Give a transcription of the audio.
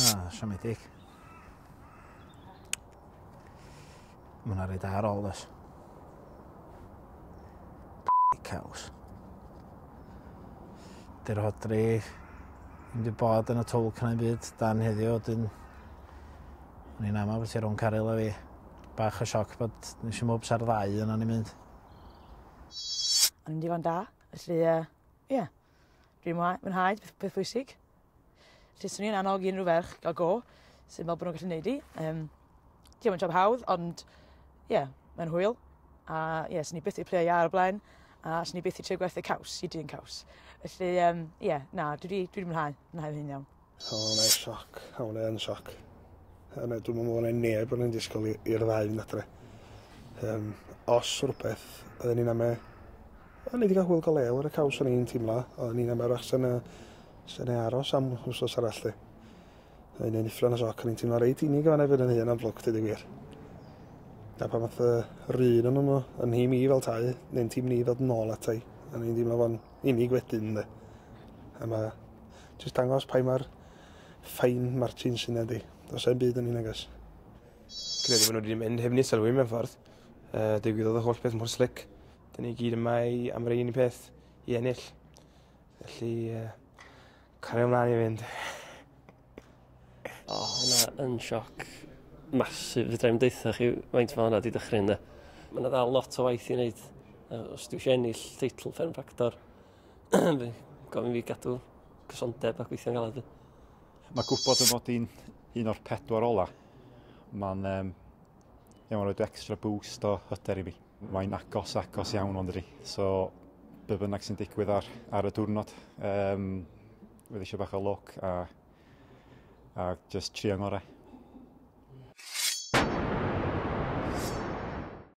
Ah, siomedig. Mae hwnna reit ar ôl, does. Caws. Dy'r Rhodri ddim wedi bod yn y twlc na'n byd dan heddiw, dyn o'n i'n aml beth rhwng Caryl a fi. Bach o sioc bod nes i mwbs ar ddau yna ni'n mynd. O'n i'n digon da, felly ie. Yeah. Dwi'n mwynhau, peth, peth bwysig. Felly swn i'n annog unrhyw ferch gael go, sy'n meddwl bod nhw'n gallu neud i. Diolch yn job hawdd, ond ie, yeah, mae'n hwyl. A ie, yeah, swn i byth i play iar o blaen, a swn i byth i trio gwerthu caws i dyn caws. Felly, ie, yeah, na, dwi wedi dwi mwynhau, mwynhau hyn iawn. O, hwnna'n sioc. O, hwnna'n sioc. Dwi'n meddwl bod yna neb yn disgwyl i'r ddau fynd adre. Os rhywbeth, oedden ni'n ame... O'n i wedi cael hwyl go lew ar y caws o'n i'n teimlo. Oedden ni'n ame wrach sy'n sy'n aros am wsos arall. Di. O'n i'n uffern o sioc, o'n i'n teimlo reit unig o'n efo yn hun am flwc, dweud y gwir. A pan fath yr un o'n nhw, yn nhîm i fel tai, neu'n tîm ni ddod nôl atai. O'n i'n teimlo fo'n unig wedyn, de. A mae jyst dangos pa mae'r fine margin sy'n ydi. Does e'n byd yn un agos. Credu bod nhw wedi mynd heb ni sylwi mewn ffordd. Digwyddodd y holl beth mor slick. Dyn ni gyd yma i, am yr un peth i ennill. Felly, cario ymlaen i fynd. O, hwnna yn sioc masif. Fedra i'm deutha chi faint mae hwnna wedi dychryn, de. Mae yna ddal lot o waith i wneud. Os dwi eisiau ennill teitl Fferm Ffactor, gofyn fi gadw cysondeb a gweithio'n galed. Mae gwybod y mod i'n un o'r pedwar ola, mae'n yeah, mae'n rhoi extra boost o hyder i fi. Mae'n agos, agos iawn ond ydi. So, be bynnag sy'n digwydd ar y diwrnod, fydd eisiau bach o luck a just trio ngorau.